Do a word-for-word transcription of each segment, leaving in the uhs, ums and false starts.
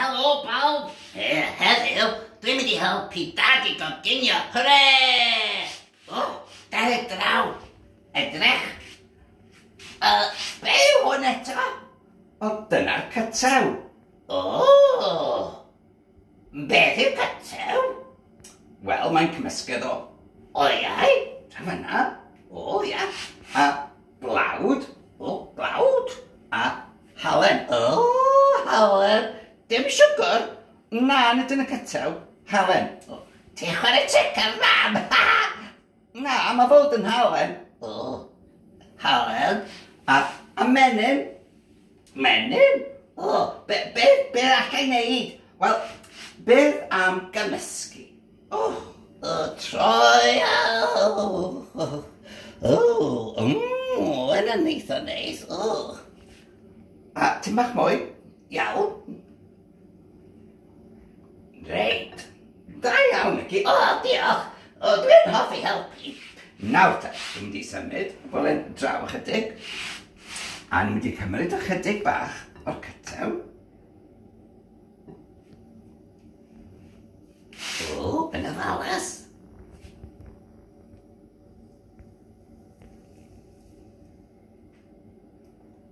Helo bawb! He, heddiw, dwi'n mynd i helpu Dad i goginio. Hwre! O, dere draw. Edrych. Uh, be yw hwn eto? O, dyna'r cytew. O! Beth yw cytew? Wel, mae'n cymysgedd o Oiau? Tra fan'na. O, ia. A blawd. O, blawd. A halen. O, halen. Dim siwgr? Na, nid yn y cytew. Halen. O, ti'n chwarae tric ar Mam? Na, mae fod yn halen. O, halen. A, a menyn. Menyn? O, be, be, be allai wneud? Wel, beth am gymysgu? O, o, troi, o, o, o, yna'n eitha neis, o. A tim bach mwy? Iawn. Reit. Da iawn, Mici. O, diolch. O, dwi'n hoffi helpu. Nawr te, dwi'n mynd i symud y bowlen draw ychydig. A ni'n mynd i cymryd ychydig bach o'r cytew. O, yn ofalus.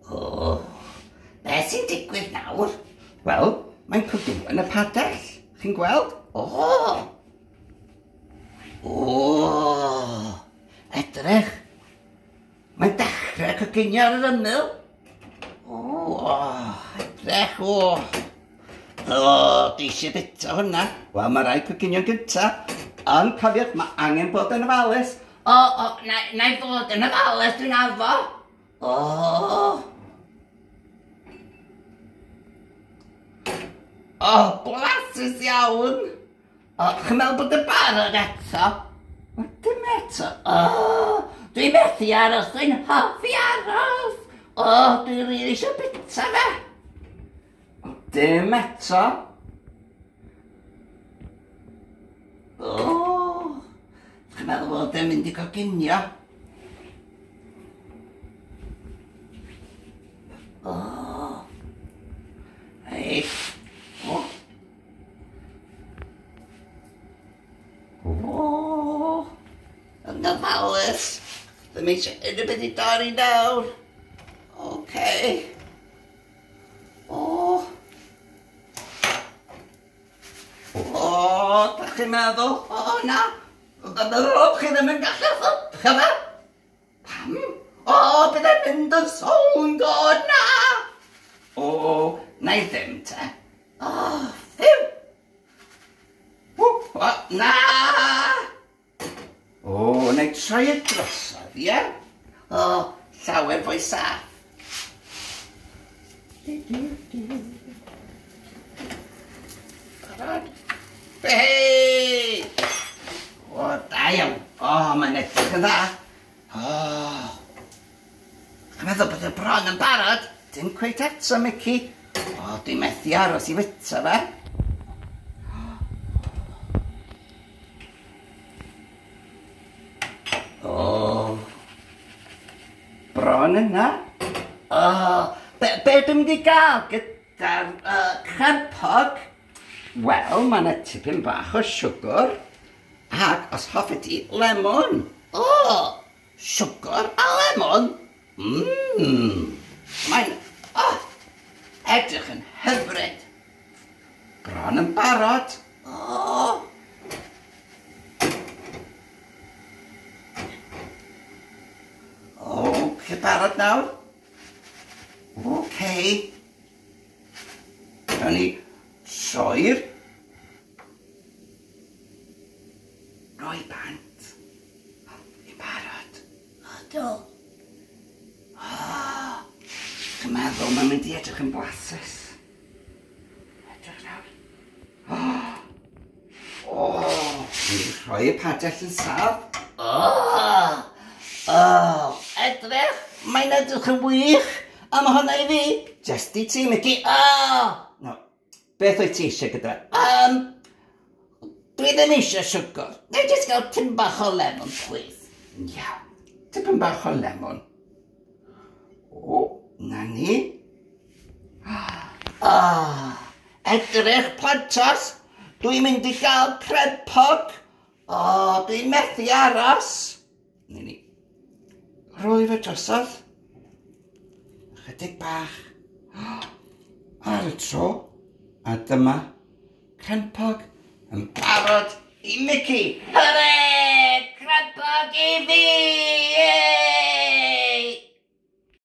O, beth sy'n digwydd nawr? Wel, mae'n coginio yn y padell. Chi'n gweld? O! O! Edrych! Mae'n dechrau coginio ar yr ymyl. O, edrych, o! O, dwi eisiau bita hwnna. Wel, mae rhaid coginio'n gynta. Ond cofiwch, mae angen bod yn ofalus. O, o, na, na i fod yn ofalus, dwi'n addo. O! O, blasus iawn. O, chi'n meddwl bod y barod eto? O, dim eto. O, dwi'n methu aros, dwi'n hoffi aros. O, dwi'n rili eisiau bita fe. O, dim eto. O, chi'n meddwl bod e'n mynd i coginio? O, reit. O. O, yn ofalus. Ddim eisiau unrhyw beth i dorri nawr. Oce. O. O, da chi'n meddwl? O, na. O, chi ddim yn gallu ffwcio fe. Pam? O, bydd e'n mynd yn sownd, o, na. O, na i ddim te. O, ffiw. O, o, na. O, na i troi y drosodd, ie? O, llawer fwy saff. Barod? Hei! O, da iawn. O, mae'n edrych yn dda. O. Chi'n meddwl bod y bron yn barod? Dim cweit eto, Mici. O, dwi'n methu aros i fita fe. O. Bron yna. O, be, be dwi'n mynd i gael gyda'r uh, crempog? Wel, mae yna tipyn bach o siwgr. Ac, os hoffet ti, lemon. O, siwgr a lemon? Mmm. Mae'n, o, edrych yn hyfryd. Bron yn barod. O. O, chi'n barod nawr? Oce. Nawn ni troi'r roi bant. I'n barod? Ydw. O, chi'n meddwl mae'n mynd i edrych yn blasus. Edrych nawr. O, o, ni'n rhoi y padell yn saff. O, o, edrych, mae'n edrych yn wych. A mae hwnna i fi. Just i ti, Mici. O! No, beth wyt ti eisiau gyda? Um, dwi ddim eisiau siwgr. Neu jyst gael tipyn bach o lemon, please. Iawn, tipyn bach o lemon. O, na ni. O, Edrych, plantos, dwi'n mynd i gael crempog. O, dwi'n methu aros. Ni ni. Rhoi fe drosodd. Chydig bach. Ar y tro. A dyma crempog yn barod i Mickey. Hwrê! Crempog i fi!